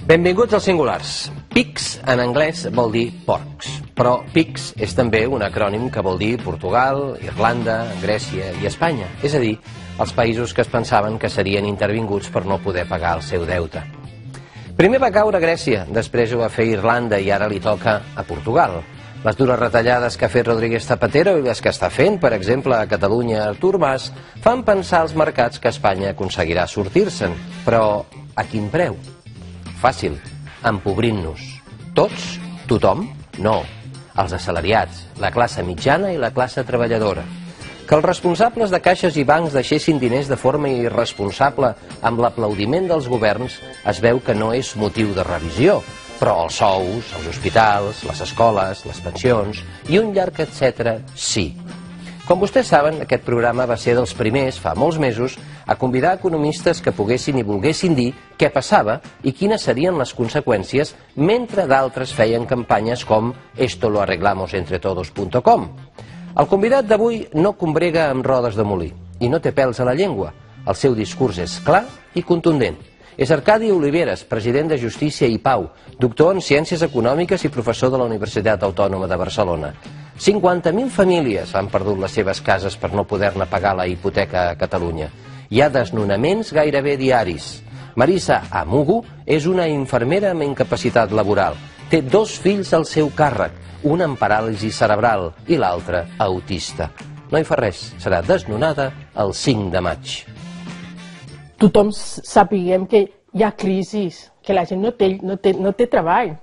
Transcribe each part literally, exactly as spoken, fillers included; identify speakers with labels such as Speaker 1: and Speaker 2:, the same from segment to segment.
Speaker 1: Benvinguts als singulars. Pigs en anglès vol dir porcs, però Pigs és també un acrònim que vol dir Portugal, Irlanda, Grècia i Espanya, és a dir, els països que es pensaven que serien intervinguts per no poder pagar el seu deute. Primer va caure Grècia, després ho va fer Irlanda i ara li toca a Portugal. Les dures retallades que ha fet Rodríguez Zapatero i les que està fent, per exemple, a Catalunya Artur Mas, fan pensar als mercats que Espanya aconseguirà sortir-se'n. Però a quin preu? Fàcil, empobrint-nos. Tots? Tothom? No. Els assalariats, la classe mitjana i la classe treballadora. Que els responsables de caixes i bancs deixessin diners de forma irresponsable amb l'aplaudiment dels governs es veu que no és motiu de revisió, però els sous, els hospitals, les escoles, les pensions i un llarg etcètera sí. Com vostès saben, aquest programa va ser dels primers, fa molts mesos, a convidar economistes que poguessin i volguessin dir què passava i quines serien les conseqüències, mentre d'altres feien campanyes com esto lo arreglamos entre todos punto com. El convidat d'avui no combrega amb rodes de molí i no té pèls a la llengua. El seu discurs és clar i contundent. És Arcadi Oliveres, president de Justícia i Pau, doctor en Ciències Econòmiques i professor de la Universitat Autònoma de Barcelona. cinquanta mil famílies han perdut les seves cases per no poder-ne pagar la hipoteca a Catalunya. Hi ha desnonaments gairebé diaris. Marisa Amugu és una infermera amb incapacitat laboral. Té dos fills al seu càrrec, un amb paràlisi cerebral i l'altre autista. No hi fa res, serà desnonada el cinc de maig.
Speaker 2: Tothom sapiguem que hi ha crisis, que la gent no té, no té, no té treball.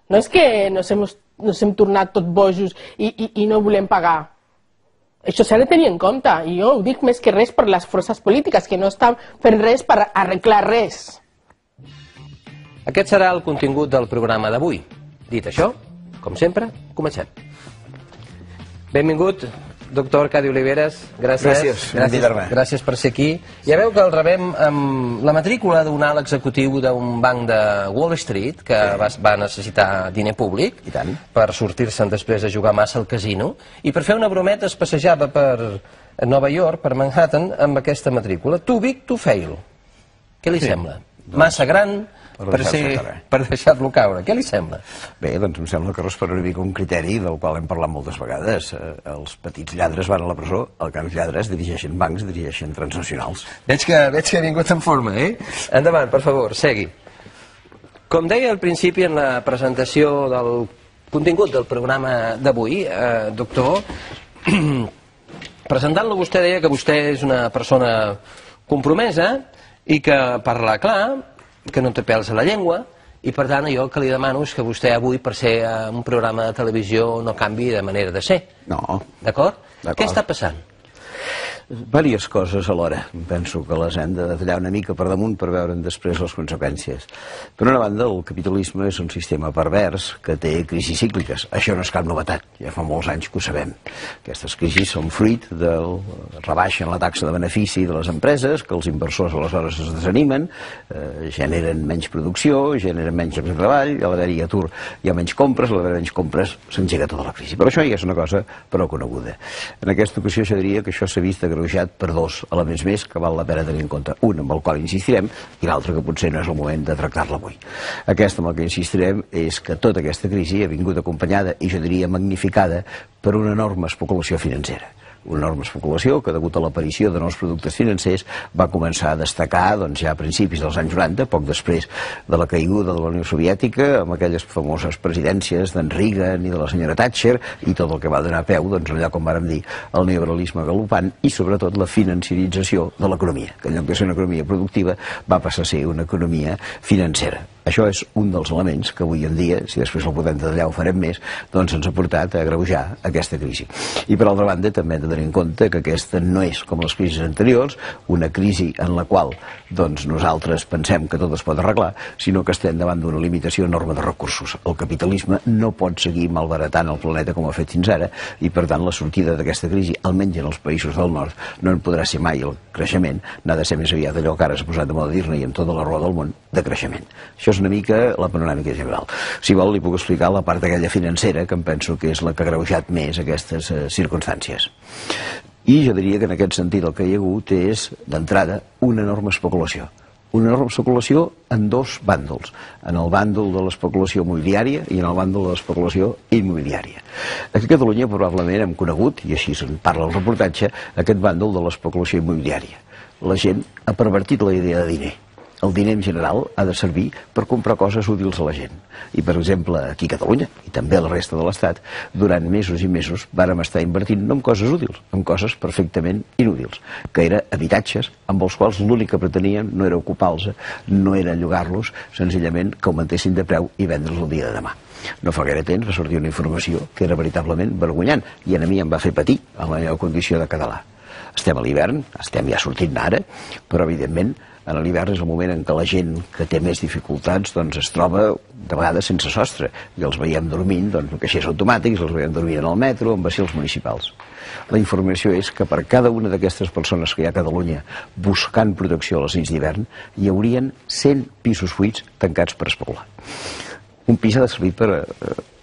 Speaker 2: No és que nos hem, nos hem tornat tot bojos i, i, i no volem pagar. Això s'ha de tenir en compte, i jo ho dic més que res per les forces polítiques, que no estan fent res per arreglar res.
Speaker 1: Aquest serà el contingut del programa d'avui. Dit això, com sempre, comencem. Benvingut, doctor Arcadi Oliveres, gràcies.
Speaker 3: Gràcies,
Speaker 1: gràcies, gràcies per ser aquí. Ja veu que el rebem amb la matrícula d'un alt executiu d'un banc de Wall Street que sí. va, va necessitar diner públic per sortir-se'n després de jugar massa al casino i per fer una brometa es passejava per Nova York, per Manhattan, amb aquesta matrícula. Too big to fail. Què li sí. sembla? Doncs... Massa gran per, ser, per deixar-lo caure. Què li sembla?
Speaker 3: Bé, doncs em sembla que respon una mica un criteri del qual hem parlat moltes vegades. Els petits lladres van a la presó, els grans lladres dirigeixen bancs, dirigeixen transnacionals.
Speaker 1: Veig que, veig que ha vingut en forma, eh? Endavant, per favor, segui. Com deia al principi en la presentació del contingut del programa d'avui, eh, doctor, presentant-lo vostè deia que vostè és una persona compromesa i que parla clar, que no té pèls a la llengua, i per tant jo el que li demano és que vostè avui, per ser a un programa de televisió, no canvi de manera de ser.
Speaker 3: No.
Speaker 1: D'acord? Què està passant?
Speaker 3: Vàries coses alhora. Penso que les hem de detallar una mica per damunt per veure'n després les conseqüències. Per una banda, el capitalisme és un sistema pervers que té crisis cícliques. Això no és cap novetat, ja fa molts anys que ho sabem. Aquestes crisis són fruit del rebaixen la taxa de benefici de les empreses, que els inversors aleshores es desanimen, eh, generen menys producció, generen menys llocs de treball, a l'haver-hi atur hi ha menys compres, a l'haver menys compres s'engega tota la crisi. Però això ja és una cosa prou coneguda. En aquesta ocasió jo diria que això s'ha vist agreujat per dos elements més que val la pena tenir en compte. Un amb el qual insistirem i l'altre que potser no és el moment de tractar-la avui. Aquesta amb el que insistirem és que tota aquesta crisi ha vingut acompanyada i jo diria magnificada per una enorme especulació financera. Una enorme especulació que, degut a l'aparició de nous productes financers, va començar a destacar doncs, ja a principis dels anys noranta, poc després de la caiguda de la Unió Soviètica, amb aquelles famoses presidències d'en Reagan i de la senyora Thatcher, i tot el que va donar peu, doncs, allò com vàrem dir, el neoliberalisme galopant i, sobretot, la financiarització de l'economia, que en lloc de ser una economia productiva va passar a ser una economia financera. Això és un dels elements que avui en dia, si després el podem detallar ho farem més, doncs ens ha portat a agreujar aquesta crisi. I per altra banda també hem de tenir en compte que aquesta no és, com les crisis anteriors, una crisi en la qual doncs, nosaltres pensem que tot es pot arreglar, sinó que estem davant d'una limitació enorme de recursos. El capitalisme no pot seguir malbaratant el planeta com ha fet fins ara i per tant la sortida d'aquesta crisi, almenys en els països del nord, no en podrà ser mai el creixement, n'ha de ser més aviat allò que ara s'ha posat de moda dir-ne i en tota la roda del món, de creixement. Això és una mica la panoràmica general. Si vol, li puc explicar la part aquella financera, que em penso que és la que ha agreujat més aquestes eh, circumstàncies. I jo diria que en aquest sentit el que hi ha hagut és, d'entrada, una enorme especulació. una enorme especulació en dos bàndols, en el bàndol de l'especulació immobiliària i en el bàndol de l'especulació immobiliària. Aquí a Catalunya probablement hem conegut, i així se'n parla el reportatge, aquest bàndol de l'especulació immobiliària. La gent ha pervertit la idea de diner. El diner en general ha de servir per comprar coses útils a la gent. I, per exemple, aquí a Catalunya, i també a la resta de l'Estat, durant mesos i mesos vàrem estar invertint no en coses útils, en coses perfectament inútils, que eren habitatges amb els quals l'únic que preteníem no era ocupar-los, no era llogar-los, senzillament que augmentessin de preu i vendre'ls el dia de demà. No fa gaire temps va sortir una informació que era veritablement vergonyant i a mi em va fer patir en la meva condició de català. Estem a l'hivern, estem ja sortint ara, però evidentment a l'hivern és el moment en què la gent que té més dificultats doncs es troba de vegades sense sostre i els veiem dormint doncs, en caixers automàtics, els veiem dormint en el metro, en vacils municipals. La informació és que per cada una d'aquestes persones que hi ha a Catalunya buscant protecció a les nits d'hivern hi haurien cent pisos buits tancats per especular. Un pis ha de servir per eh,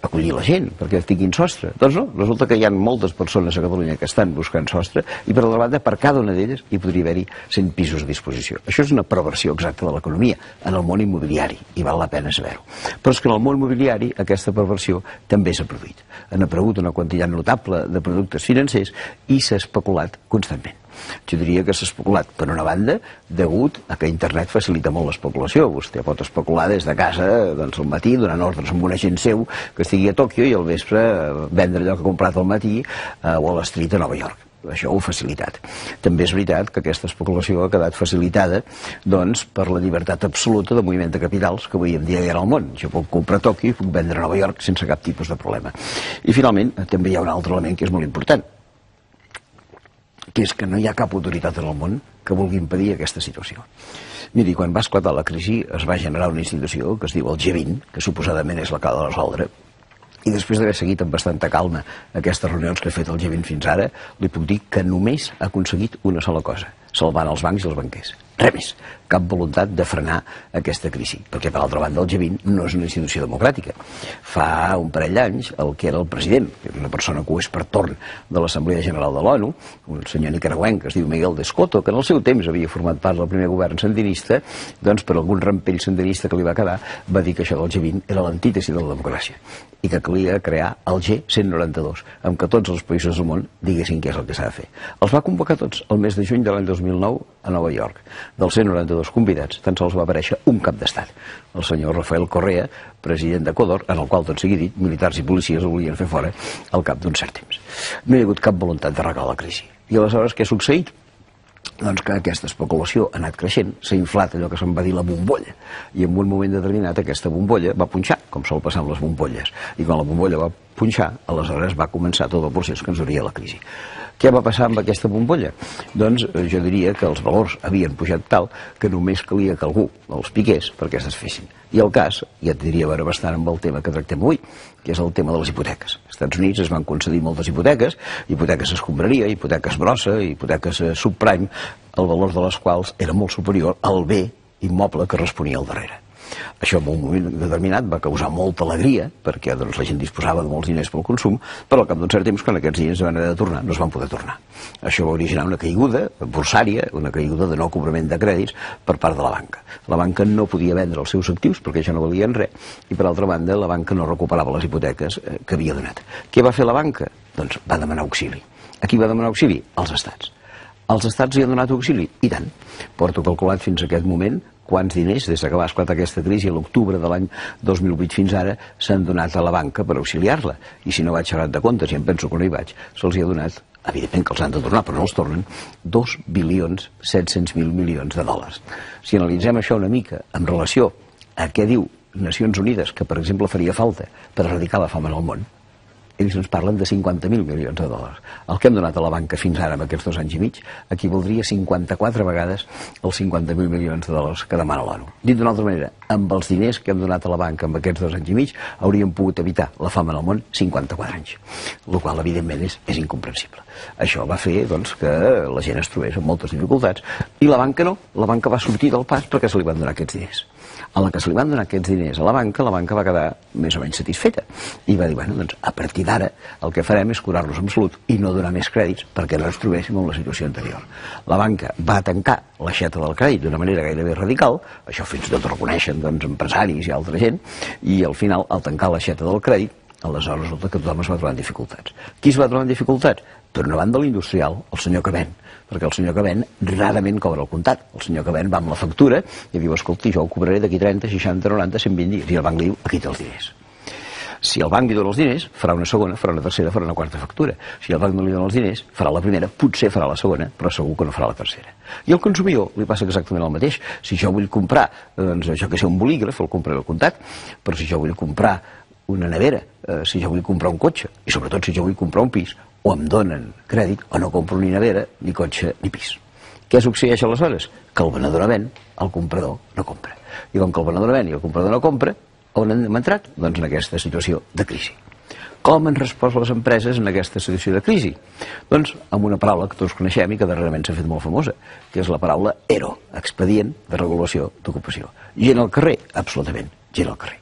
Speaker 3: acollir la gent, perquè tinguin sostre. Doncs no, resulta que hi ha moltes persones a Catalunya que estan buscant sostre i per altra banda, per cada una d'elles hi podria haver-hi cent pisos a disposició. Això és una perversió exacta de l'economia en el món immobiliari i val la pena saber-ho. Però és que en el món immobiliari aquesta perversió també s'ha produït. Han aparegut una quantitat notable de productes financers i s'ha especulat constantment. Jo diria que s'ha especulat, per una banda, degut a que internet facilita molt l'especulació. Vostè pot especular des de casa, doncs al matí, donant ordres amb un agent seu que estigui a Tòquio i al vespre vendre allò que ha comprat al matí a Wall Street a Nova York. Això ho ha facilitat. També és veritat que aquesta especulació ha quedat facilitada doncs, per la llibertat absoluta de moviment de capitals que avui en dia hi ha al món. Jo puc comprar a Tòquio i puc vendre a Nova York sense cap tipus de problema. I finalment també hi ha un altre element que és molt important, que és que no hi ha cap autoritat en el món que vulgui impedir aquesta situació. Miri, quan va esclatar la crisi es va generar una institució que es diu el G vint, que suposadament és la que ha de resoldre, i després d'haver seguit amb bastanta calma aquestes reunions que ha fet el G vint fins ara, li puc dir que només ha aconseguit una sola cosa, salvant els bancs i els banquers. Res més, cap voluntat de frenar aquesta crisi, perquè per altra banda el G vint no és una institució democràtica. Fa un parell d'anys el que era el president, que és una persona que ho és per torn de l'Assemblea General de l'ONU, un senyor nicaragüenc que es diu Miguel de Escoto, que en el seu temps havia format part del primer govern sandinista, doncs per algun rampell sandinista que li va quedar va dir que això del G vint era l'antítesi de la democràcia i que calia crear el G cent noranta-dos, amb què tots els països del món diguessin què és el que s'ha de fer. Els va convocar tots el mes de juny de l'any dos mil nou a Nova York. Dels cent noranta-dos convidats, tan sols va aparèixer un cap d'estat, el senyor Rafael Correa, president d'Equador, en el qual, tot sigui dit, militars i policies el volien fer fora al cap d'un cert temps. No hi ha hagut cap voluntat d'arreglar la crisi. I aleshores què ha succeït? Doncs que aquesta especulació ha anat creixent, s'ha inflat allò que se'n va dir la bombolla, i en un moment determinat aquesta bombolla va punxar, com sol passar amb les bombolles, i quan la bombolla va punxar, aleshores va començar tot el procés que ens duria la crisi. Què va passar amb aquesta bombolla? Doncs jo diria que els valors havien pujat tal que només calia que algú els piqués perquè es desfessin. I el cas, ja et diria veure bastant amb el tema que tractem avui, que és el tema de les hipoteques. Als Estats Units es van concedir moltes hipoteques, hipoteques escombraria, hipoteques brossa, hipoteques subprime, el valor de les quals era molt superior al bé immoble que responia al darrere. Això en un moment determinat va causar molta alegria, perquè doncs, la gent disposava de molts diners pel consum, però al cap d'un cert temps, quan aquests diners van haver de tornar, no es van poder tornar. Això va originar una caiguda borsària, una caiguda de no cobrament de crèdits per part de la banca. La banca no podia vendre els seus actius, perquè ja no valien res, i per altra banda, la banca no recuperava les hipoteques que havia donat. Què va fer la banca? Doncs va demanar auxili. A qui va demanar auxili? Als estats. Els estats hi han donat auxili? I tant. Porto calculat fins a aquest moment quants diners, des que va esclatar aquesta crisi a l'octubre de l'any dos mil vuit fins ara, s'han donat a la banca per auxiliar-la. I si no vaig xerrat de comptes, i em penso que no hi vaig, se'ls hi ha donat, evidentment que els han de tornar, però no els tornen, dos bilions set-cents mil milions de dòlars. Si analitzem això una mica en relació a què diu Nacions Unides, que per exemple faria falta per erradicar la fam en el món, ells ens parlen de cinquanta mil milions de dòlars. El que hem donat a la banca fins ara, en aquests dos anys i mig, equivaldria cinquanta-quatre vegades els cinquanta mil milions de dòlars que demana l'ONU. Dit d'una altra manera, amb els diners que hem donat a la banca en aquests dos anys i mig, hauríem pogut evitar la fam en el món cinquanta-quatre anys, el qual, evidentment, és, és incomprensible. Això va fer doncs, que la gent es trobés amb moltes dificultats, i la banca no. La banca va sortir del pas perquè se li van donar aquests diners. A la que se li van donar aquests diners a la banca, la banca va quedar més o menys satisfeta i va dir, bueno, doncs a partir d'ara el que farem és curar-nos amb salut i no donar més crèdits perquè no ens trobéssim en la situació anterior. La banca va tancar l'aixeta del crèdit d'una manera gairebé radical, això fins i tot ho reconeixen doncs, empresaris i altra gent, i al final, al tancar l'aixeta del crèdit, aleshores resulta que tothom es va trobar en dificultats. Qui es va trobar en dificultats? Per una banda l'industrial, el senyor que ven, perquè el senyor que ven rarament cobra el comptat. El senyor que ven va amb la factura i diu, escolti, jo ho cobraré d'aquí trenta, seixanta, noranta, cent vint dies, i el banc li diu, aquí té els diners. Si el banc li dona els diners, farà una segona, farà una tercera, farà una quarta factura. Si el banc no li dona els diners, farà la primera, potser farà la segona, però segur que no farà la tercera. I al consumidor li passa exactament el mateix. Si jo vull comprar, doncs, això que sé, un bolígraf, el compraré al comptat, però si jo vull comprar una nevera, eh, si jo vull comprar un cotxe, i sobretot si jo vull comprar un pis, o em donen crèdit, o no compro ni nevera, ni cotxe, ni pis. Què succeeix aleshores? Que el venedor ven, el comprador no compra. I com que el venedor ven i el comprador no compra, on hem entrat? Doncs en aquesta situació de crisi. Com han respost les empreses en aquesta situació de crisi? Doncs amb una paraula que tots coneixem i que darrerament s'ha fet molt famosa, que és la paraula ERO, Expedient de Regulació d'Ocupació. Gent al carrer? Absolutament, gent al carrer.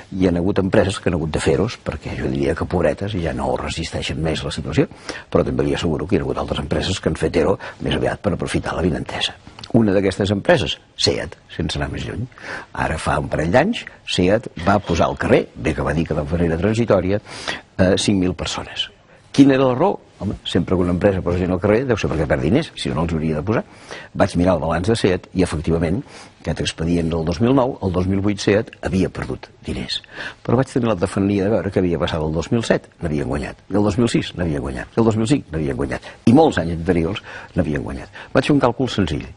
Speaker 3: Hi ha hagut empreses que han hagut de fer-los, perquè jo diria que pobretes i ja no resisteixen més la situació, però també li asseguro que hi ha hagut altres empreses que han fet ERO més aviat per aprofitar la vinentesa. Una d'aquestes empreses, SEAT, sense anar més lluny. Ara fa un parell d'anys, SEAT va posar al carrer, bé que va dir que de manera transitòria, eh, cinc mil persones. Quina era la raó? Home, sempre que una empresa posa gent al carrer deu ser perquè perd diners, si no, no els hauria de posar. Vaig mirar el balanç de SEAT i, efectivament, aquest expedient del dos mil nou, el dos mil vuit SEAT havia perdut diners. Però vaig tenir la tafania de veure que havia passat el dos mil set, n'havien guanyat, i el dos mil sis n'havien guanyat, i el dos mil cinc n'havien guanyat, i molts anys anteriors n'havien guanyat. Vaig fer un càlcul senzill.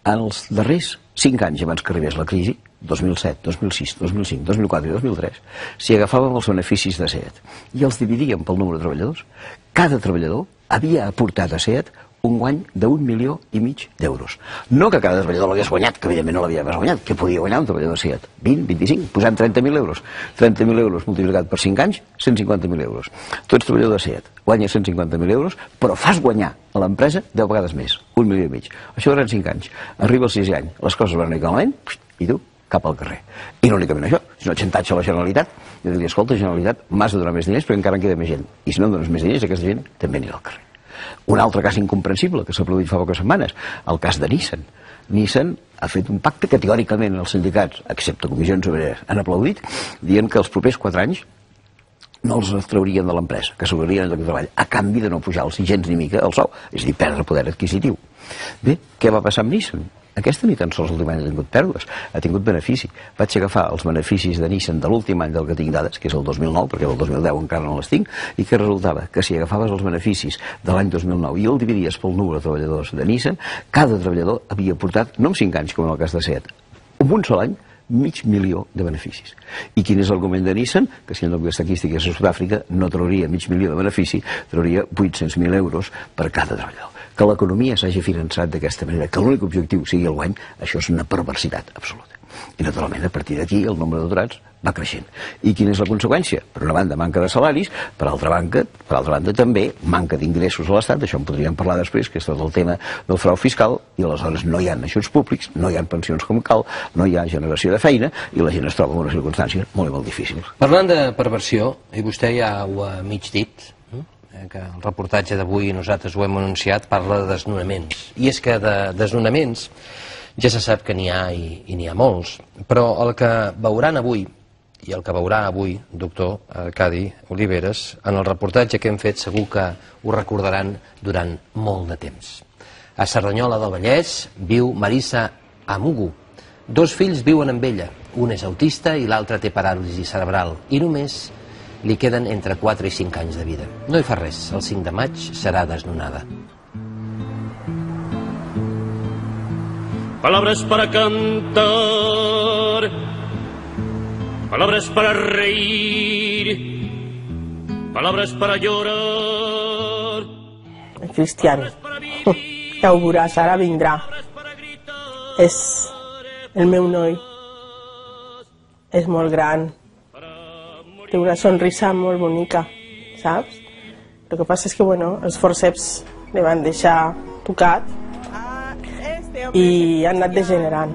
Speaker 3: En els darrers cinc anys abans que arribés la crisi, dos mil set, dos mil sis, dos mil cinc, dos mil quatre i dos mil tres, si agafàvem els beneficis de SEAT i els dividíem pel número de treballadors, cada treballador havia aportat a SEAT un guany d'un milió i mig d'euros. No que cada treballador l'hagués guanyat, que evidentment no l'havia guanyat, que podia guanyar un treballador de SEAT? vint, vint-i-cinc, posant trenta mil euros. trenta mil euros multiplicat per cinc anys, cent cinquanta mil euros. Tu ets treballador de SEAT, guanyes cent cinquanta mil euros, però fas guanyar a l'empresa deu vegades més, un milió i mig. Això durant cinc anys. Arriba el sisè any, les coses van anar malament, i tu, cap al carrer. I no únicament això, sinó xantatge a la Generalitat. Jo diria, escolta, Generalitat, m'has de donar més diners perquè encara en queda més gent. I si no em dones més diners, aquesta gent també anirà al carrer. Un altre cas incomprensible que s'ha produït fa poques setmanes, el cas de Nissan. Nissan ha fet un pacte que teòricament els sindicats, excepte comissions obreres, han aplaudit, dient que els propers quatre anys no els traurien de l'empresa, que s'obrarien el lloc de treball, a canvi de no pujar-los gens ni mica el sou, és a dir, perdre poder adquisitiu. Bé, què va passar amb Nissan? Aquesta ni tan sols l'últim any ha tingut pèrdues, ha tingut benefici. Vaig agafar els beneficis de Nissan de l'últim any del que tinc dades, que és el dos mil nou, perquè del dos mil deu encara no les tinc, i que resultava que si agafaves els beneficis de l'any dos mil nou i el dividies pel número de treballadors de Nissan, cada treballador havia portat, no en cinc anys com en el cas de SEAT, en un sol any, mig milió de beneficis. I quin és l'argument de Nissan? Que si en lloc d'estar aquí estigués a Sud-àfrica no trauria mig milió de benefici, trauria vuit-cents mil euros per cada treballador. Que l'economia s'hagi finançat d'aquesta manera, que l'únic objectiu sigui el guany, això és una perversitat absoluta. I naturalment a partir d'aquí el nombre d'aturats va creixent. I quina és la conseqüència? Per una banda manca de salaris, per altra banda, per altra banda també manca d'ingressos a l'Estat, això en podríem parlar després, que és tot el tema del frau fiscal, i aleshores no hi ha ajuts públics, no hi ha pensions com cal, no hi ha generació de feina, i la gent es troba en una circumstància molt i molt difícil.
Speaker 1: Parlant de perversió, i vostè ja ho ha mig dit, que el reportatge d'avui nosaltres ho hem anunciat, parla de desnonaments. I és que de desnonaments ja se sap que n'hi ha i, i n'hi ha molts, però el que veuran avui, i el que veurà avui, doctor Arcadi Oliveres, en el reportatge que hem fet segur que ho recordaran durant molt de temps. A Cerdanyola del Vallès viu Marisa Amugu. Dos fills viuen amb ella, un és autista i l'altre té paràlisi cerebral, i només li queden entre quatre i cinc anys de vida. No hi fa res, el cinc de maig serà desnonada.
Speaker 4: Palabras para cantar, palabras para reír, palabras para llorar.
Speaker 2: El Cristian, ja ho veuràs, ara vindrà. És el meu noi. És molt gran. Té una sonrisa molt bonica, saps? El que passa és que, bueno, els forceps li van deixar tocat i han anat degenerant.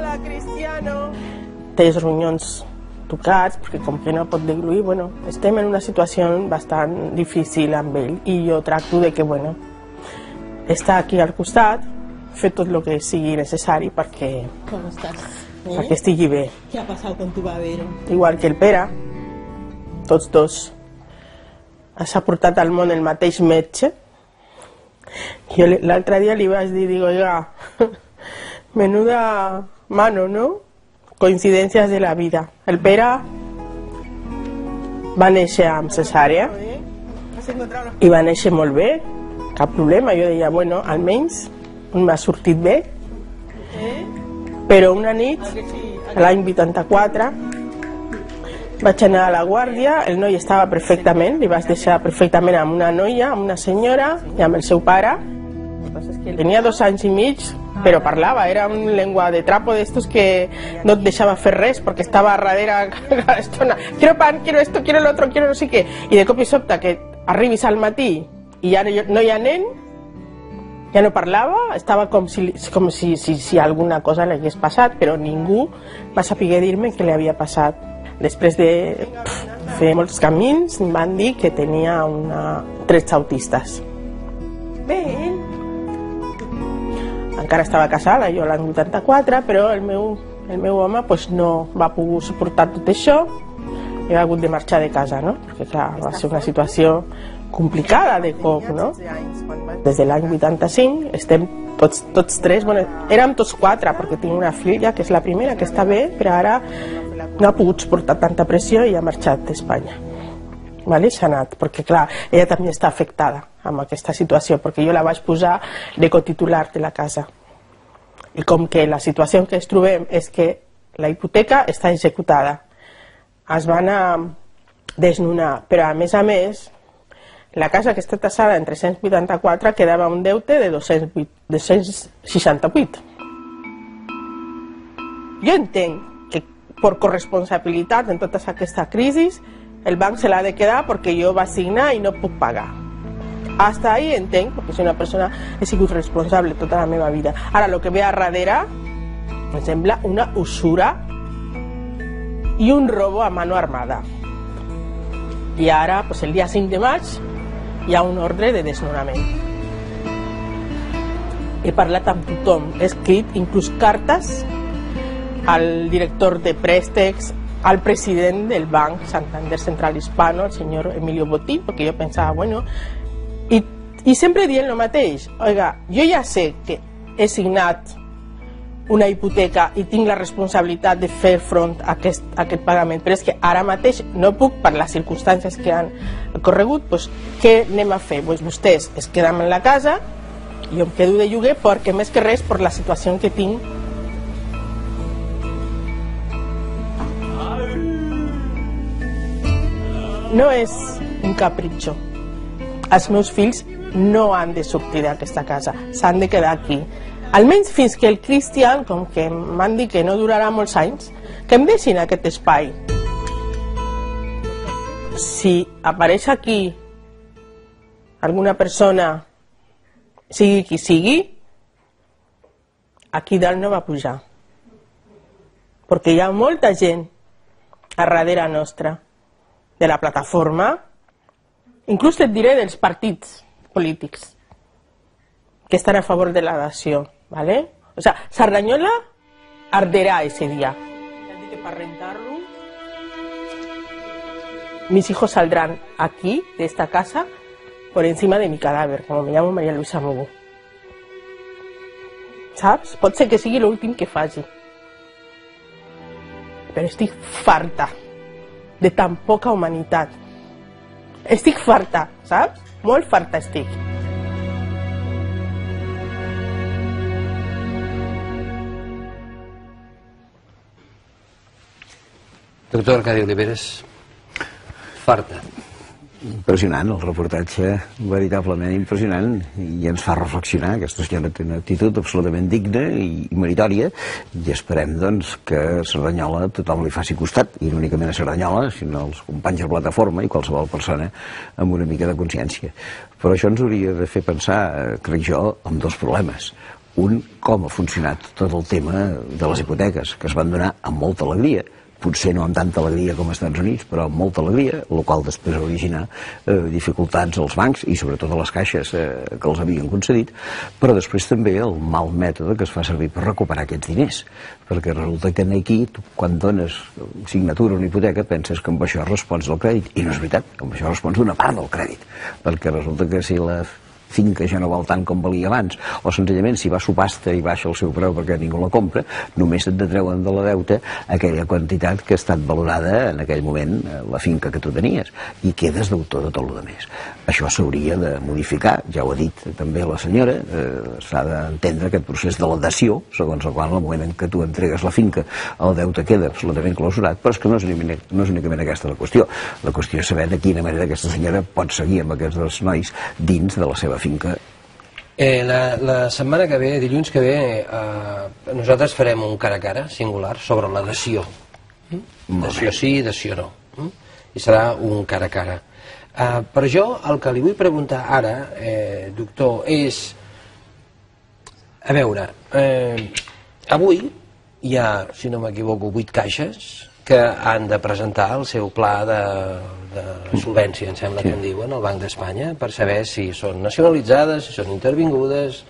Speaker 2: Hola, Cristiano. Té els ronyons tocats, perquè com que no pot degluir, bueno, estem en una situació bastant difícil amb ell i jo tracto de que, bueno, està aquí al costat, fer tot el que sigui necessari perquè,
Speaker 5: Com estàs? Eh?
Speaker 2: perquè estigui bé.
Speaker 5: Què ha passat con tu babero?
Speaker 2: Igual que el Pere, tots dos. S'ha portat al món el mateix metge. Jo l'altre dia li vaig dir, digo, oiga, menuda mano, ¿no? Coincidències de la vida. El Pere va néixer amb cesàrea i va néixer molt bé, cap problema. Jo deia, bueno, almenys m'ha sortit bé. Però una nit, l'any vuitanta-quatre, vaig anar a la guàrdia, el noi estava perfectament, li vaig deixar perfectament amb una noia, amb una senyora i amb el seu pare. Tenia dos anys i mig, però parlava, era una llengua de trapo d'estos que no et deixava fer res perquè estava a darrere cada estona. Quiero pan, quiero esto, quiero lo otro, quiero no sé què. I de cop i sobte que arribis al matí i ja no hi ha nen, ja no parlava, estava com si, com si, si, si alguna cosa li hagués passat, però ningú va saber dir-me què li havia passat. Després de pff, fer molts camins, em van dir que tenia una... trets autistes. Bé, encara estava casada, jo l'any vuitanta-quatre, però el meu, el meu home pues, no va poder suportar tot això i ha hagut de marxar de casa, no? Perquè clar, va ser una situació complicada de cop, no? Des de l'any vuitanta-cinc estem tots, tots tres, bueno, érem tots quatre, perquè tinc una filla que és la primera, que està bé, però ara no ha pogut suportar tanta pressió i ha marxat d'Espanya. Vale? S'ha anat, perquè clar, ella també està afectada amb aquesta situació, perquè jo la vaig posar de cotitular de la casa. I com que la situació en què ens trobem és que la hipoteca està executada, es van a desnonar, però a més a més, la casa que està tassada en tres-cents vuitanta-quatre quedava un deute de dos-cents seixanta-vuit. Jo entenc que per corresponsabilitat en tota aquesta crisi el banc se l'ha de quedar perquè jo va signar i no puc pagar. Hasta ahí entenc, perquè soy una persona, he sigut responsable tota la meva vida. Ara, el que ve a darrere em sembla una usura i un robo a mano armada. I ara, pues, el dia cinc de maig, hi ha un ordre de desnonament. He parlat amb tothom, he escrit inclús cartes al director de préstecs, al president del Banc Santander Central Hispano, el senyor Emilio Botín, perquè jo pensava, bueno, i, i sempre dient el mateix, oiga, jo ja sé que he signat una hipoteca i tinc la responsabilitat de fer front a aquest, a aquest pagament, però és que ara mateix no puc, per les circumstàncies que han corregut, doncs què anem a fer? Pues vostès es queden en la casa, jo em quedo de lloguer perquè més que res per la situació que tinc. No és un capritxo. Els meus fills no han de sortir d'aquesta casa, s'han de quedar aquí. Almenys fins que el Cristian, com que m'han dit que no durarà molts anys, que em deixin aquest espai. Si apareix aquí alguna persona, sigui qui sigui, aquí dalt no va pujar. Perquè hi ha molta gent a darrere nostra, de la plataforma, inclús et diré dels partits polítics que estan a favor de la dació, ¿vale? O sea, Sardañola arderà ese día. Ya que para rentarlo, mis hijos saldrán aquí, de esta casa, por encima de mi cadáver, como me llamo María Luisa Mogo. Saps? Pot ser que sigui l'últim que faci. Però estic farta de tan poca humanitat. Estic farta, saps? Molt farta estic.
Speaker 1: Doctor Arcadi Oliveres, farta.
Speaker 3: Impressionant, el reportatge, veritablement impressionant, i ens fa reflexionar. Aquesta senyora té una actitud absolutament digna i meritòria, i esperem, doncs, que a Cerdanyola tothom li faci costat, i no únicament a Cerdanyola, sinó als companys de plataforma i qualsevol persona amb una mica de consciència. Però això ens hauria de fer pensar, crec jo, en dos problemes. un com ha funcionat tot el tema de les hipoteques, que es van donar amb molta alegria, potser no amb tanta alegria com als Estats Units, però amb molta alegria, el qual després va originar eh, dificultats als bancs i sobretot a les caixes eh, que els havien concedit, però després també el mal mètode que es fa servir per recuperar aquests diners, perquè resulta que aquí, tu, quan dones signatura a una hipoteca, penses que amb això respons del crèdit, i no és veritat, amb això respons d'una part del crèdit, perquè resulta que si la finca ja no val tant com valia abans, o senzillament si va a subhasta i baixa el seu preu perquè ningú la compra, només et detreuen de la deute aquella quantitat que ha estat valorada en aquell moment la finca que tu tenies, i quedes d'autor de tot el que més. Això s'hauria de modificar, ja ho ha dit també la senyora, eh, s'ha d'entendre aquest procés de la dació, segons el qual en el moment en què tu entregues la finca el deute queda absolutament clausurat, però és que no és únicament, no és únicament aquesta la qüestió. La qüestió és saber de quina manera aquesta senyora pot seguir amb aquests dos nois dins de la seva finca.
Speaker 1: Eh, la, la setmana que ve, dilluns que ve, eh, nosaltres farem un cara a cara singular sobre la dació. Mm? Dació sí, dació no. Mm? I serà un cara a cara. Eh, però jo el que li vull preguntar ara, eh, doctor, és... A veure, eh, avui hi ha, si no m'equivoco, vuit caixes que han de presentar el seu pla de, de solvència, em sembla que en diuen, al Banc d'Espanya, per saber si són nacionalitzades, si són intervingudes,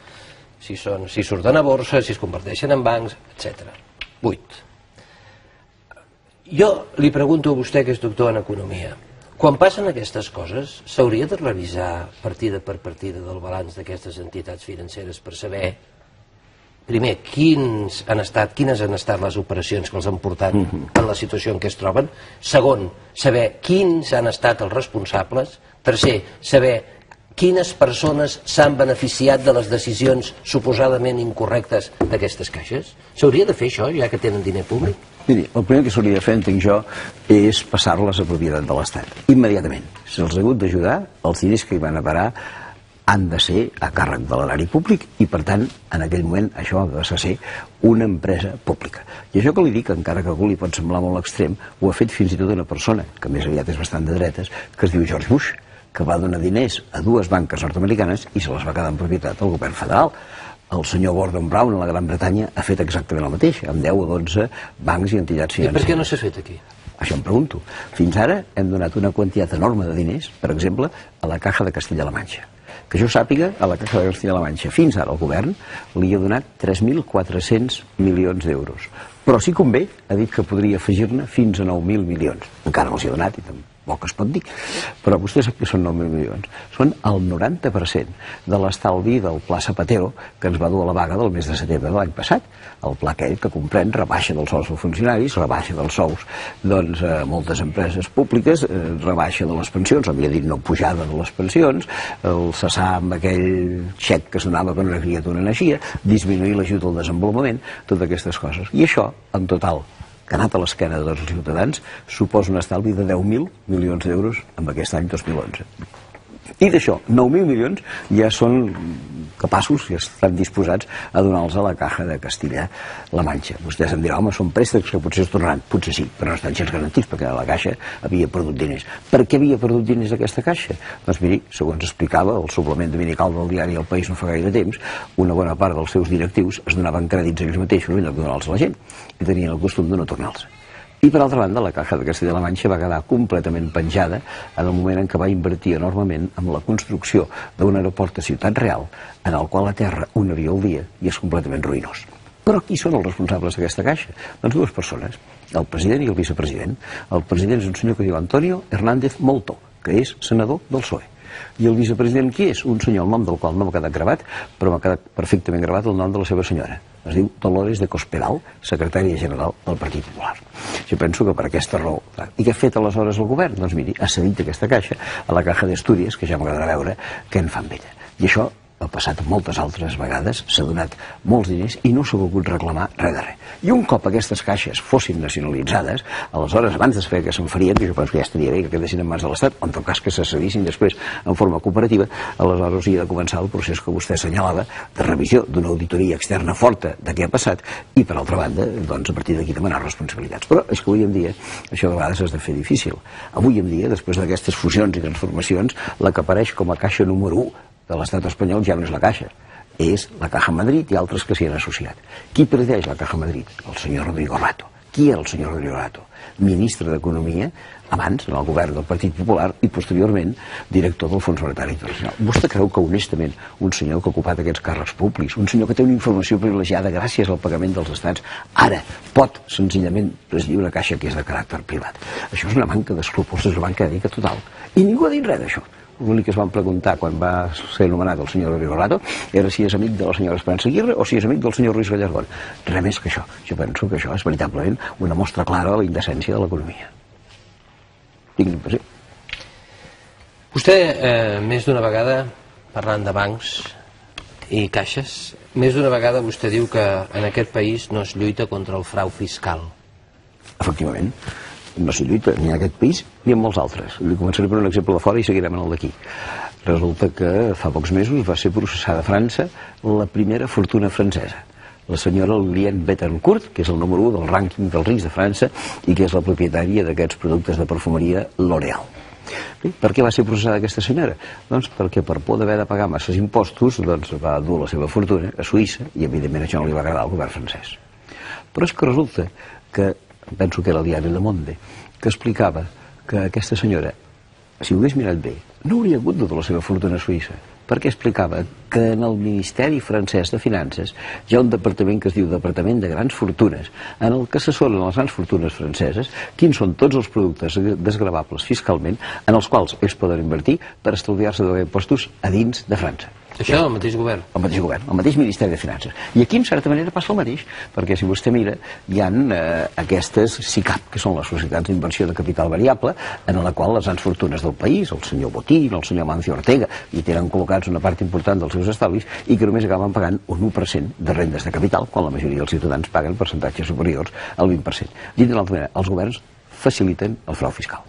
Speaker 1: si, són, si surten a borsa, si es converteixen en bancs, etcètera. Vuit. Jo li pregunto a vostè, que és doctor en economia, quan passen aquestes coses, s'hauria de revisar partida per partida del balanç d'aquestes entitats financeres per saber, primer, quins han estat, quines han estat les operacions que els han portat en la situació en què es troben. Segon, saber quins han estat els responsables. Tercer, saber quines persones s'han beneficiat de les decisions suposadament incorrectes d'aquestes caixes. S'hauria de fer això, ja que tenen diner públic?
Speaker 3: Miri, el primer que s'hauria de fer, entenc jo, és passar-les a propietat de l'Estat. Immediatament. Se'ls ha hagut d'ajudar, els diners que hi van a parar han de ser a càrrec de l'erari públic i, per tant, en aquell moment això ha de ser una empresa pública. I això que li dic, encara que a algú li pot semblar molt extrem, ho ha fet fins i tot una persona, que més aviat és bastant de dretes, que es diu George Bush, que va donar diners a dues banques nord-americanes i se les va quedar en propietat al govern federal. El senyor Gordon Brown a la Gran Bretanya ha fet exactament el mateix, amb deu o dotze bancs i entitats financeres.
Speaker 1: I per què no s'ha fet aquí?
Speaker 3: Això em pregunto. Fins ara hem donat una quantitat enorme de diners, per exemple, a la Caja de Castilla-La Manxa. Que jo sàpiga, a la Caja de Castilla-La Manxa, fins ara el govern li ha donat tres mil quatre-cents milions d'euros. Però si convé, ha dit que podria afegir-ne fins a nou mil milions. Encara no els hi ha donat i tampoc es pot dir. Però vostè sap que són nou mil milions. Són el noranta per cent de l'estalvi del Pla Zapatero que ens va dur a la vaga del mes de setembre de l'any passat. El pla aquell que comprèn rebaixa dels sous dels funcionaris, rebaixa dels sous doncs, a moltes empreses públiques, eh, rebaixa de les pensions, o millor dit, no pujada de les pensions, el cessar amb aquell xec que es donava quan una criatura naixia, disminuir l'ajut al desenvolupament, totes aquestes coses. I això, en total, que ha anat a l'esquena de tots els ciutadans, suposa un estalvi de deu mil milions d'euros en aquest any dos mil onze. I d'això, nou mil milions ja són capaços i estan disposats a donar-los a la Caja de Castilla-La Manxa. Vostès em diran, home, són préstecs que potser es tornaran. Potser sí, però no estan gens garantits, perquè la Caixa havia perdut diners. Per què havia perdut diners aquesta Caixa? Doncs miri, segons explicava el suplement dominical del diari El País no fa gaire temps, una bona part dels seus directius es donaven crèdits a ells mateixos en lloc de donar-los a la gent, i tenien el costum de no tornar-los. I, per altra banda, la Caja de Castilla-La Manxa va quedar completament penjada en el moment en què va invertir enormement en la construcció d'un aeroport a Ciutat Real, en el qual aterra un avió al dia i és completament ruïnós. Però qui són els responsables d'aquesta Caixa? Doncs dues persones, el president i el vicepresident. El president és un senyor que diu Antonio Hernández Molto, que és senador del P S O E. I el vicepresident qui és? Un senyor, el nom del qual no m'ha quedat gravat, però m'ha quedat perfectament gravat el nom de la seva senyora. Es diu Dolores de Cospedal, secretària general del Partit Popular. Jo penso que per aquesta raó. I què ha fet aleshores el govern? Doncs miri, ha cedit aquesta caixa a la Caja d'Estúries, que ja m'agradarà veure què en fan amb ella. I això ha passat moltes altres vegades, s'ha donat molts diners i no s'ha volgut reclamar res de res. I un cop aquestes caixes fossin nacionalitzades, aleshores, abans de saber què se'n farien, que jo penso que ja estaria bé que quedessin en mans de l'Estat, o en tot cas que se cedissin després en forma cooperativa, aleshores hi ha de començar el procés que vostè assenyalava de revisió d'una auditoria externa forta de què ha passat i, per altra banda, doncs, a partir d'aquí demanar responsabilitats. Però és que avui en dia això de vegades has de fer difícil. Avui en dia, després d'aquestes fusions i transformacions, la que apareix com a caixa número u de l'estat espanyol ja no és la Caixa, és la Caja Madrid i altres que s'hi han associat. Qui presideix la Caja Madrid? El senyor Rodrigo Rato. Qui era el senyor Rodrigo Rato? Ministre d'Economia, abans en el govern del Partit Popular i posteriorment director del Fons Monetari Internacional. Vostè creu que honestament un senyor que ha ocupat aquests càrrecs públics, un senyor que té una informació privilegiada gràcies al pagament dels estats, ara pot senzillament presidir una caixa que és de caràcter privat? Això és una manca d'escrúpols, és una manca d'ètica total. I ningú ha dit res d'això. L'únic que es van preguntar quan va ser nomenat el senyor Rodrigo Rato era si és amic de la senyora Esperanza Aguirre o si és amic del senyor Ruiz Gallardón. Res més que això. Jo penso que això és veritablement una mostra clara de la indecència de l'economia. Tinc l'impressió.
Speaker 1: Vostè, eh, més d'una vegada, parlant de bancs i caixes, més d'una vegada vostè diu que en aquest país no es lluita contra el frau fiscal.
Speaker 3: Efectivament. No s'hi lluita ni en aquest país ni en molts altres. Li començaré per un exemple de fora i seguirem en el d'aquí. Resulta que fa pocs mesos va ser processada a França la primera fortuna francesa, la senyora Liliane Bettencourt, que és el número u del rànquing dels rics de França i que és la propietària d'aquests productes de perfumeria L'Oréal. Per què va ser processada aquesta senyora? Doncs perquè per por d'haver de pagar masses impostos doncs va dur la seva fortuna a Suïssa i evidentment això no li va agradar al govern francès. Però és que resulta que penso que era el diari Le Monde, que explicava que aquesta senyora, si ho hagués mirat bé, no hauria hagut de la seva fortuna a Suïssa, perquè explicava que en el Ministeri francès de Finances hi ha un departament que es diu Departament de Grans Fortunes, en el que assessoren les grans fortunes franceses quins són tots els productes desgravables fiscalment en els quals ells poden invertir per estalviar-se de impostos a dins de França.
Speaker 1: Això és el mateix govern?
Speaker 3: El mateix govern, el mateix Ministeri de Finances. I aquí, en certa manera, passa el mateix, perquè si vostè mira, hi ha eh, aquestes SICAP, que són les societats d'inversió de capital variable, en la qual les grans fortunes del país, el senyor Botín, el senyor Mancio Ortega, hi tenen col·locats una part important dels seus estalvis i que només acaben pagant un u per cent de rendes de capital, quan la majoria dels ciutadans paguen percentatges superiors al vint per cent. Dit d'una altra manera, els governs faciliten el frau fiscal.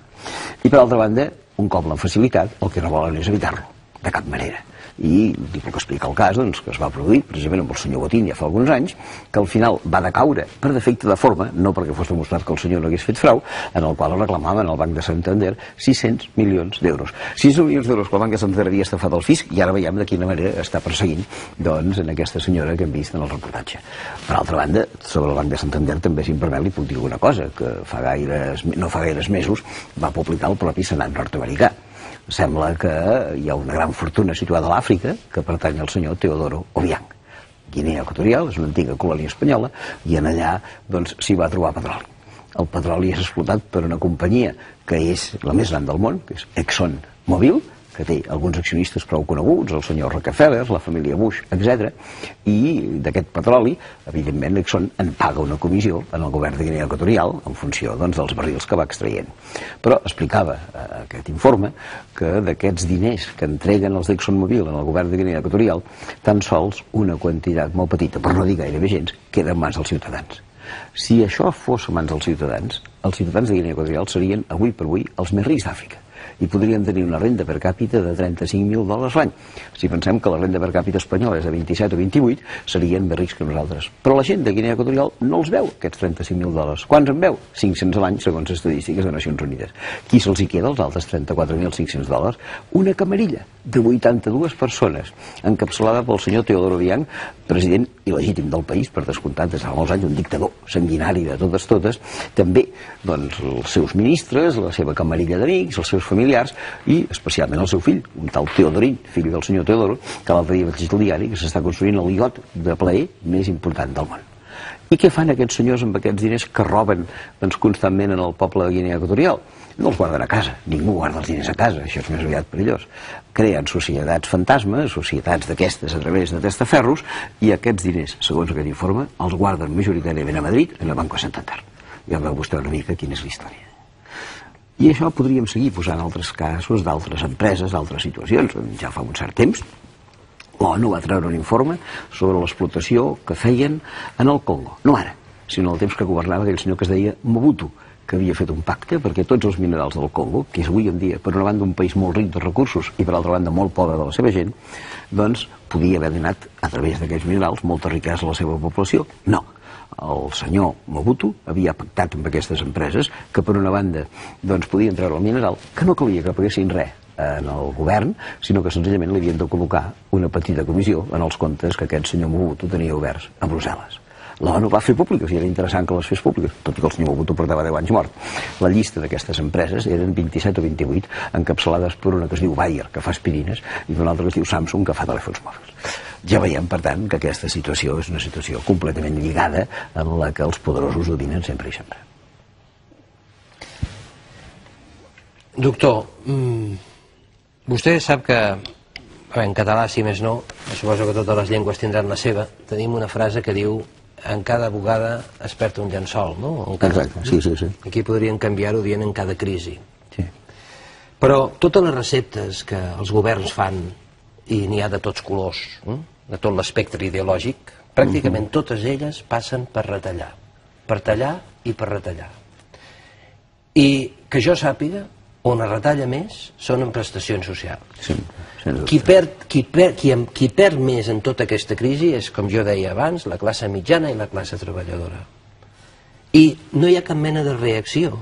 Speaker 3: I, per altra banda, un cop l'han facilitat, el que no volen és evitar-lo, de cap manera. I li puc explicar el cas doncs, que es va produir precisament amb el senyor Botín ja fa alguns anys, que al final va decaure per defecte de forma, no perquè fos demostrat que el senyor no hagués fet frau, en el qual reclamaven al Banc de Santander sis-cents milions d'euros. sis-cents milions d'euros que el Banc de Santander havia estafat al fisc i ara veiem de quina manera està perseguint doncs, en aquesta senyora que hem vist en el reportatge. Per altra banda, sobre el Banc de Santander també, si em permet, li puc dir una cosa, que fa gaires, no fa gaires mesos va publicar el propi Senat nord-americà. Sembla que hi ha una gran fortuna situada a l'Àfrica que pertany al senyor Teodoro Obiang. Guinea Equatorial és una antiga colònia espanyola i en allà doncs, s'hi va trobar petroli. El petroli és explotat per una companyia que és la més gran del món, que és ExxonMobil, que té alguns accionistes prou coneguts, el senyor Rockefeller, la família Bush, etcètera. I d'aquest petroli, evidentment, Exxon en paga una comissió en el govern de Guinea Equatorial en funció doncs, dels barrils que va extraient. Però explicava eh, aquest informe que d'aquests diners que entreguen els d'ExxonMobil en el govern de Guinea Equatorial, tan sols una quantitat molt petita, per no dir gairebé gens, queda en mans dels ciutadans. Si això fos en mans dels ciutadans, els ciutadans de Guinea Equatorial serien, avui per avui, els més rics d'Àfrica i podrien tenir una renda per càpita de trenta-cinc mil dòlars l'any. Si pensem que la renda per càpita espanyola és de vint-i-set o vint-i-vuit, serien més rics que nosaltres. Però la gent de Guinea Equatorial no els veu, aquests trenta-cinc mil dòlars. Quants en veu? cinc-cents a l'any, segons estadístiques de Nacions Unides. Qui se'ls hi queda, els altres trenta-quatre mil cinc-cents dòlars? Una camarilla de vuitanta-dues persones, encapçalada pel senyor Teodoro Obiang, president il·legítim del país, per descomptat, des de fa molts anys, un dictador sanguinari de totes totes, també doncs, els seus ministres, la seva camarilla d'amics, els seus familiars i especialment el seu fill, un tal Teodorín, fill del senyor Teodoro, que l'altre dia vaig llegir al diari que s'està construint el iot de plaer més important del món. I què fan aquests senyors amb aquests diners que roben doncs, constantment en el poble de Guinea Equatorial? No els guarden a casa, ningú guarda els diners a casa, això és més aviat perillós. Creen societats fantasmes, societats d'aquestes a través de testaferros, i aquests diners, segons aquest informe, els guarden majoritàriament a Madrid, en el Banco Santander. Ja veu vostè una mica quina és la història. I això podríem seguir posant altres casos d'altres empreses, d'altres situacions. Ja fa un cert temps, l'ONU va treure un informe sobre l'explotació que feien en el Congo. No ara, sinó el temps que governava aquell senyor que es deia Mobutu, que havia fet un pacte perquè tots els minerals del Congo, que és avui en dia, per una banda, un país molt ric de recursos i per altra banda molt pobre de la seva gent, doncs podia haver donat a través d'aquests minerals molta riquesa a la seva població. No. El senyor Mobutu havia pactat amb aquestes empreses que per una banda doncs, podien treure el mineral, que no calia que paguessin res en el govern, sinó que senzillament li havien de col·locar una petita comissió en els comptes que aquest senyor Mobutu tenia oberts a Brussel·les. L'ONU va fer públiques i era interessant que les fes públiques, tot i que el senyor Mobutu portava deu anys mort. La llista d'aquestes empreses eren vint-i-set o vint-i-vuit, encapçalades per una que es diu Bayer, que fa aspirines, i per una altra que es diu Samsung, que fa telèfons mòbils. Ja veiem, per tant, que aquesta situació és una situació completament lligada en la que els poderosos dominen sempre i sempre.
Speaker 1: Doctor, vostè sap que en català, si més no, suposo que totes les llengües tindran la seva, tenim una frase que diu en cada bugada es perd un llençol, no?
Speaker 3: Exacte, sí, sí, sí.
Speaker 1: Aquí podrien canviar-ho dient en cada crisi.
Speaker 3: Sí.
Speaker 1: Però totes les receptes que els governs fan, i n'hi ha de tots colors, de tot l'espectre ideològic, pràcticament totes elles passen per retallar. Per tallar i per retallar. I que jo sàpiga, on es retalla més són en prestacions socials.
Speaker 3: Sí,
Speaker 1: qui, perd, qui, perd, qui, qui perd més en tota aquesta crisi és, com jo deia abans, la classe mitjana i la classe treballadora. I no hi ha cap mena de reacció,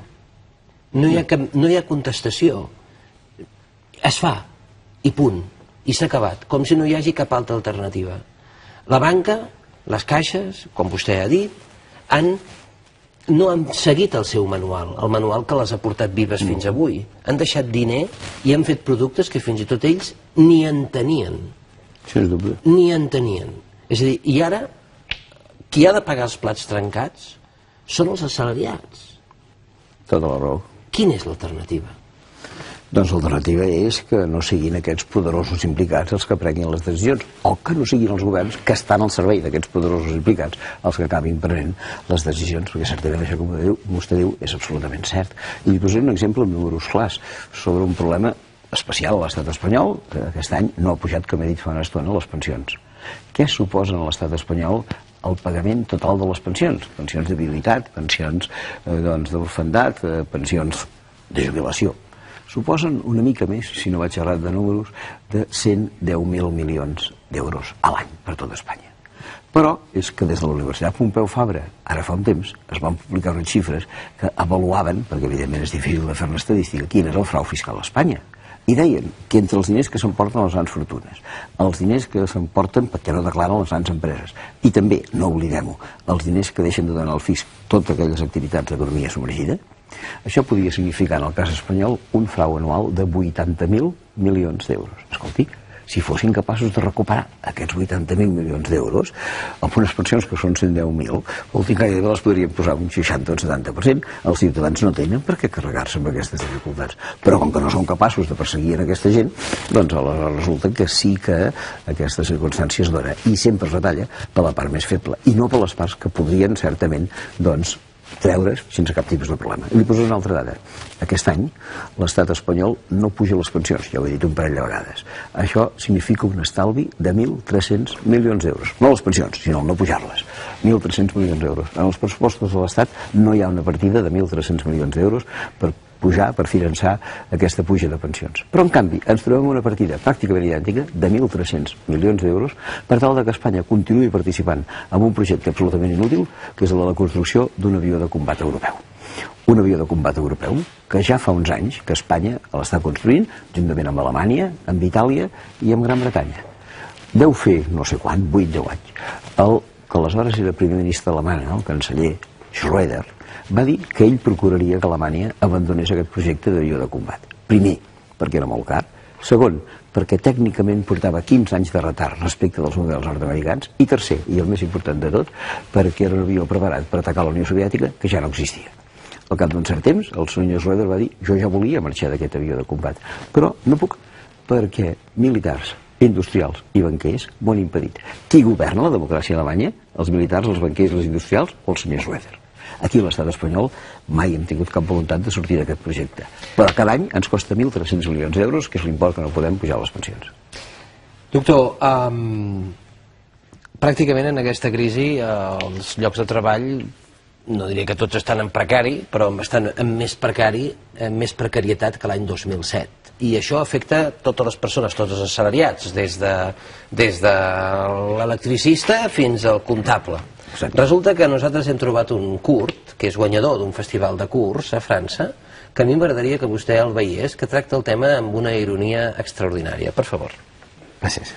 Speaker 1: no hi ha, cap, no hi ha contestació. Es fa, i punt, i s'ha acabat, com si no hi hagi cap altra alternativa. La banca, les caixes, com vostè ha dit, han no han seguit el seu manual, el manual que les ha portat vives fins avui. Han deixat diner i han fet productes que fins i tot ells ni en tenien. Ni en tenien. És a dir, i ara, qui ha de pagar els plats trencats són els assalariats.
Speaker 3: Tota la raó.
Speaker 1: Quina és l'alternativa?
Speaker 3: Doncs l'alternativa és que no siguin aquests poderosos implicats els que prenguin les decisions, o que no siguin els governs que estan al servei d'aquests poderosos implicats els que acabin prenent les decisions, perquè certament això, com vostè diu, és absolutament cert. I li posaré un exemple amb números clars sobre un problema especial a l'estat espanyol, que aquest any no ha pujat, com he dit fa una estona, les pensions. Què suposen a l'estat espanyol el pagament total de les pensions? Pensions de viuditat, pensions d'orfandat, pensions de jubilació. Suposen una mica més, si no vaig errat de números, de cent deu mil milions d'euros a l'any per tot Espanya. Però és que des de la Universitat Pompeu Fabra, ara fa un temps, es van publicar unes xifres que avaluaven, perquè evidentment és difícil de fer una estadística, quin és el frau fiscal a Espanya. I deien que entre els diners que s'emporten les grans fortunes, els diners que s'emporten perquè no declaren les grans empreses, i també, no oblidem-ho, els diners que deixen de donar al fisc totes aquelles activitats d'economia submergida, això podria significar, en el cas espanyol, un frau anual de vuitanta mil milions d'euros. Escolti, si fossin capaços de recuperar aquests vuitanta mil milions d'euros amb unes pensions que són cent deu mil, vol dir que gairebé les podrien posar un seixanta o un setanta per cent. Els ciutadans no tenen per què carregar-se amb aquestes dificultats. Però com que no són capaços de perseguir en aquesta gent, doncs aleshores resulta que sí que aquesta circumstància es dona i sempre es retalla per la part més feble i no per les parts que podrien certament, doncs, treure's sense cap tipus de problema. I li poso una altra dada. Aquest any l'estat espanyol no puja les pensions, ja ho he dit un parell de vegades. Això significa un estalvi de mil tres-cents milions d'euros. No les pensions, sinó no pujar-les. mil tres-cents milions d'euros. En els pressupostos de l'estat no hi ha una partida de mil tres-cents milions d'euros per pujar, per finançar aquesta puja de pensions. Però, en canvi, ens trobem una partida pràcticament idèntica de mil tres-cents milions d'euros per tal que Espanya continuï participant en un projecte absolutament inútil, que és el de la construcció d'un avió de combat europeu. Un avió de combat europeu que ja fa uns anys que Espanya l'està construint, juntament amb Alemanya, amb Itàlia i amb Gran Bretanya. Deu fer, no sé quan, vuit deu anys. El que aleshores era primer ministre alemany, el canceller Schröder, va dir que ell procuraria que Alemanya abandonés aquest projecte d'avió de combat. Primer, perquè era molt car. Segon, perquè tècnicament portava quinze anys de retard respecte dels models nord-americans. I tercer, i el més important de tot, perquè era un avió preparat per atacar la Unió Soviètica que ja no existia. Al cap d'un cert temps, el senyor Schröder va dir jo ja volia marxar d'aquest avió de combat, però no puc perquè militars, industrials i banquers m'ho han impedit. Qui governa la democràcia alemanya? Els militars, els banquers, els industrials o el senyor Schröder? Aquí a l'estat espanyol mai hem tingut cap voluntat de sortir d'aquest projecte. Però cada any ens costa mil tres-cents milions d'euros, que és l'import que no podem pujar les pensions.
Speaker 1: Doctor, um, pràcticament en aquesta crisi eh, els llocs de treball, no diré que tots estan en precari, però estan en més precari, en més precarietat que l'any dos mil set. I això afecta totes les persones, tots els assalariats, des de, des de l'electricista fins al comptable. Resulta que nosaltres hem trobat un curt, que és guanyador d'un festival de curts a França, que a mi m'agradaria que vostè el veiés, que tracta el tema amb una ironia extraordinària. Per favor.
Speaker 3: Gràcies.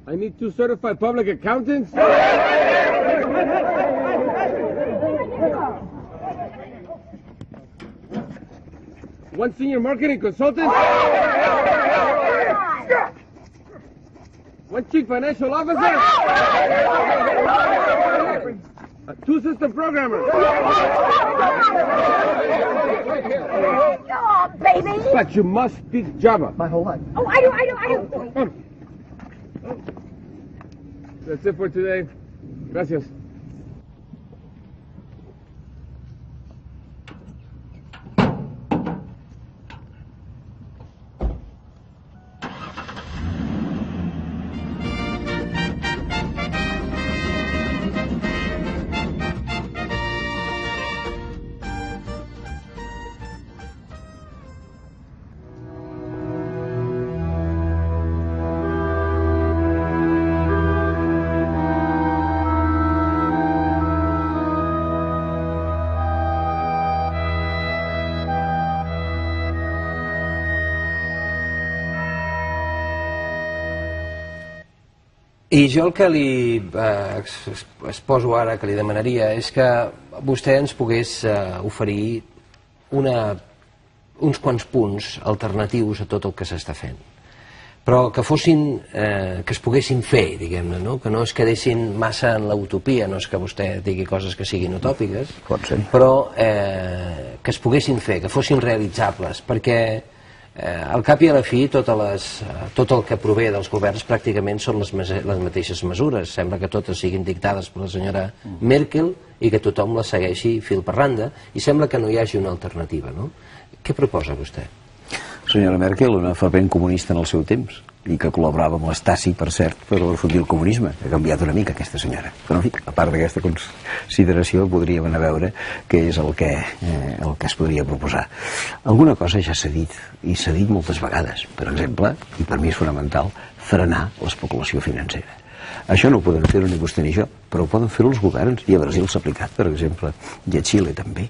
Speaker 6: I need two certified public accountants. One senior marketing consultant. One chief financial officer. Uh, two system programmers.
Speaker 7: Oh, baby.
Speaker 6: But you must speak Java.
Speaker 7: My whole life. Oh, I do, I do, I do.
Speaker 6: Come. That's it for today. Gracias.
Speaker 1: I jo el que li eh, exposo ara, que li demanaria, és que vostè ens pogués eh, oferir una, uns quants punts alternatius a tot el que s'està fent, però que fossin, eh, que es poguessin fer, diguem-ne, no? Que no es quedessin massa en la utopia, no és que vostè digui coses que siguin utòpiques, però eh, que es poguessin fer, que fossin realitzables, perquè Eh, al cap i a la fi, totes les, tot el que prové dels governs pràcticament són les, les mateixes mesures. Sembla que totes siguin dictades per la senyora Merkel i que tothom les segueixi fil per randa, i sembla que no hi hagi una alternativa, no? Què proposa vostè?
Speaker 3: Senyora Merkel, una fervent comunista en el seu temps, i que col·laborava amb l'Estasi, per cert, per refundir el comunisme. Ha canviat una mica aquesta senyora. Però, en fi, a part d'aquesta consideració, podríem anar a veure què és el que, eh, el que es podria proposar. Alguna cosa ja s'ha dit, i s'ha dit moltes vegades. Per exemple, i per mi és fonamental, frenar l'especulació financera. Això no ho poden fer-ho ni vostè ni jo, però ho poden fer-ho els governs, i a Brasil s'ha aplicat, per exemple, i a Xile també,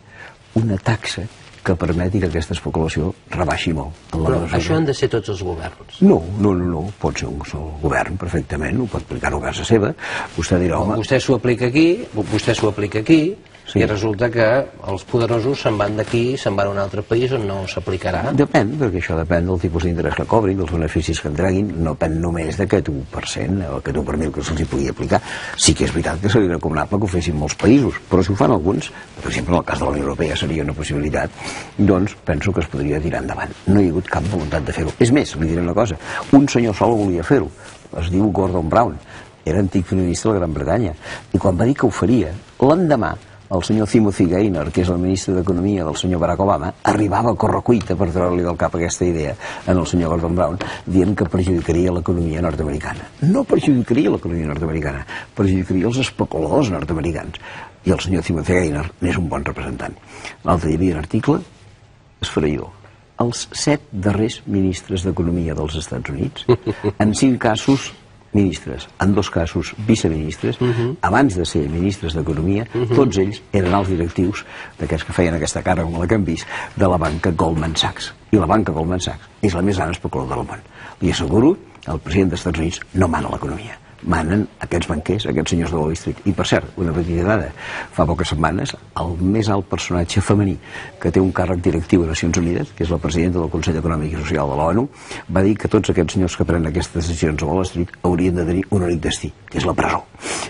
Speaker 3: una taxa que permeti que aquesta especulació rebaixi molt.
Speaker 1: Però això han de ser tots els governs?
Speaker 3: No, no, no, no. Pot ser un sol govern perfectament, ho pot aplicar-ho a casa seva. Vostè dirà, home...
Speaker 1: Vostè s'ho aplica aquí, vostè s'ho aplica aquí, i resulta que els poderosos se'n van d'aquí, se'n van a un altre país on no s'aplicarà.
Speaker 3: Depèn, perquè això depèn del tipus d'interès que cobrin, dels beneficis que en treguin, no depèn només d'aquest u per cent o aquest u per mil que se'ls hi pugui aplicar. Sí que és veritat que seria recomanable que ho fessin molts països, però si ho fan alguns, per exemple en el cas de la Unió Europea seria una possibilitat, doncs penso que es podria tirar endavant. No hi ha hagut cap voluntat de fer-ho. És més, li diré una cosa, un senyor sol volia fer-ho, es diu Gordon Brown, era antic primer ministre de la Gran Bretanya, i quan va dir que ho faria, l'endemà el senyor Timothy Geithner, que és el ministre d'Economia del senyor Barack Obama, arribava a correcuita per treure-li del cap aquesta idea en el senyor Gordon Brown, dient que perjudicaria l'economia nord-americana. No perjudicaria l'economia nord-americana, perjudicaria els especuladors nord-americans. I el senyor Timothy Geithner n'és un bon representant. L'altre hi havia un article esfereïdor. Els set darrers ministres d'Economia dels Estats Units, en cinc casos ministres, en dos casos viceministres, uh-huh. abans de ser ministres d'Economia, uh-huh. tots ells eren alts directius d'aquests que feien aquesta cara com la que hem vist, de la banca Goldman Sachs. I la banca Goldman Sachs és la més gran especuladora del món. Li asseguro, el president dels Estats Units no mana l'economia. manen aquests banquers, aquests senyors de Wall Street. I per cert, una petita dada, fa poques setmanes el més alt personatge femení que té un càrrec directiu a Nacions Unides, que és la presidenta del Consell Econòmic i Social de l'ONU, va dir que tots aquests senyors que prenen aquestes decisions a Wall Street haurien de tenir un únic destí, que és la presó.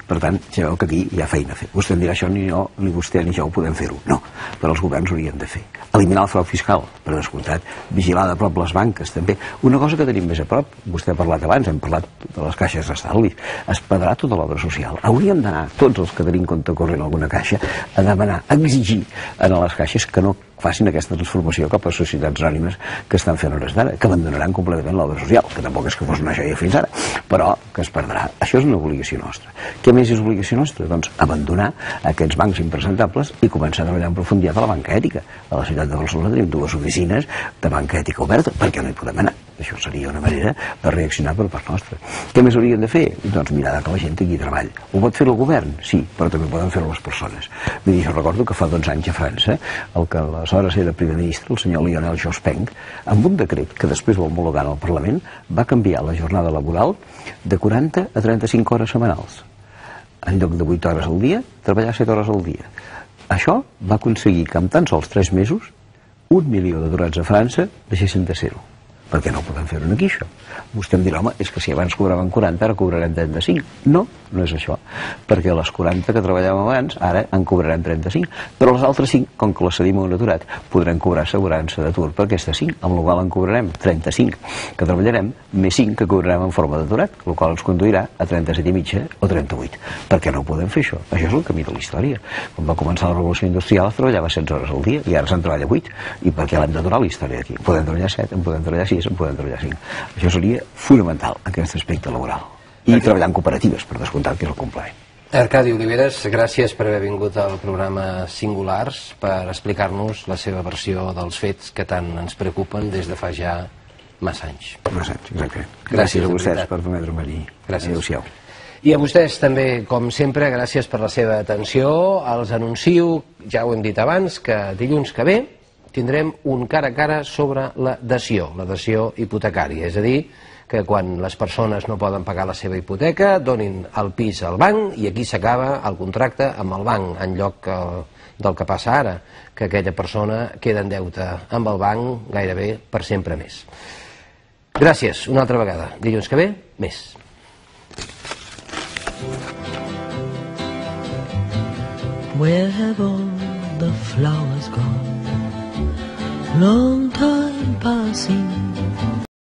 Speaker 3: Per tant, ja veu que aquí hi ha feina a fer. Vostè em dirà això, ni jo, ni vostè ni jo ho podem fer-ho. No, però els governs haurien de fer. Eliminar el frau fiscal, per descomptat, vigilar de prop les banques, també. Una cosa que tenim més a prop, vostè ha parlat abans, hem parlat de les caixes d'estalvis, es pagarà tota l'obra social. Hauríem d'anar, tots els que tenim compte corrent alguna caixa, a demanar, a exigir a les caixes que no facin aquesta transformació cap a societats anònimes que estan fent hores d'ara, que abandonaran completament l'obra social, que tampoc és que fos una joia fins ara, però que es perdrà. Això és una obligació nostra. Què més és obligació nostra? Doncs abandonar aquests bancs impresentables i començar a treballar en profunditat a la banca ètica. A la ciutat de Barcelona tenim dues oficines de banca ètica oberta, perquè no hi podem anar. Això seria una manera de reaccionar per part nostra. Què més haurien de fer? Doncs mirar que la gent tingui treball. Ho pot fer el govern? Sí, però també poden fer-ho les persones. Vull dir, jo recordo que fa dotze anys a França, el que aleshores era primer ministre, el senyor Lionel Jospin, amb un decret que després va homologar al Parlament, va canviar la jornada laboral de quaranta a trenta-cinc hores setmanals. En lloc de vuit hores al dia, treballar set hores al dia. Això va aconseguir que en tan sols tres mesos un milió d'aturats a França deixessin de ser-ho. Per què no podem fer-ho aquí, això? Vostè em dirà, home, és que si abans cobraven quaranta, ara cobrarem trenta-cinc. No, no és això. Perquè les quaranta que treballàvem abans, ara en cobrarem trenta-cinc. Però les altres cinc, com que les cedim a un aturat, podrem cobrar assegurança d'atur per aquestes cinc, amb la qual en cobrarem trenta-cinc que treballarem, més cinc que cobrarem en forma d'aturat, la qual ens conduirà a trenta-set i mitja o trenta-vuit. Per què no podem fer això? Això és el camí de la història. Quan va començar la revolució industrial es treballava setze hores al dia i ara se'n treballa vuit. I per què l'hem d'aturar la història aquí? Podem treballar set, en podem treballar sis, en podem treballar cinc. Això seria fonamental, aquest aspecte laboral. I treballar en cooperatives, per descomptat, que és el complement.
Speaker 1: Arcadi Oliveres, gràcies per haver vingut al programa Singulars per explicar-nos la seva versió dels fets que tant ens preocupen des de fa ja massa anys.
Speaker 3: Massa anys, exacte.
Speaker 1: Gràcies,
Speaker 3: gràcies a vostès per permetre'm venir.
Speaker 1: Gràcies.
Speaker 3: Adéu-siau.
Speaker 1: I a vostès també, com sempre, gràcies per la seva atenció. Els anuncio, ja ho hem dit abans, que dilluns que ve tindrem un cara a cara sobre la dació, la dació hipotecària, és a dir, que quan les persones no poden pagar la seva hipoteca donin el pis al banc i aquí s'acaba el contracte amb el banc, en lloc del que passa ara, que aquella persona queda en deute amb el banc gairebé per sempre més. Gràcies, una altra vegada. Dilluns que ve, més.
Speaker 8: Where have all the flowers gone? Long time passing